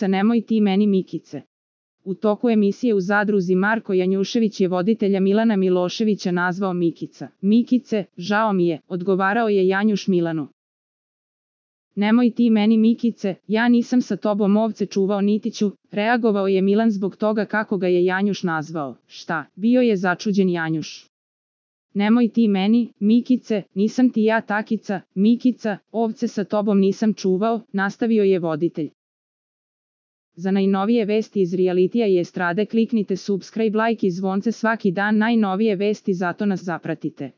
Nemoj ti meni Mikice. U toku emisije u Zadruzi Marko Janjušević je voditelja Milana Miloševića nazvao Mikica. Mikice, žao mi je, odgovarao je Janjuš Milanu. Nemoj ti meni Mikice, ja nisam sa tobom ovce čuvao niti ću, reagovao je Milan zbog toga kako ga je Janjuš nazvao. Šta, bio je začuđen Janjuš. Nemoj ti meni, Mikice, nisam ti ja takica, Mikica, ovce sa tobom nisam čuvao, nastavio je voditelj. Za najnovije vesti iz realitija i estrade kliknite subscribe, like i zvonce svaki dan, najnovije vesti, zato nas zapratite.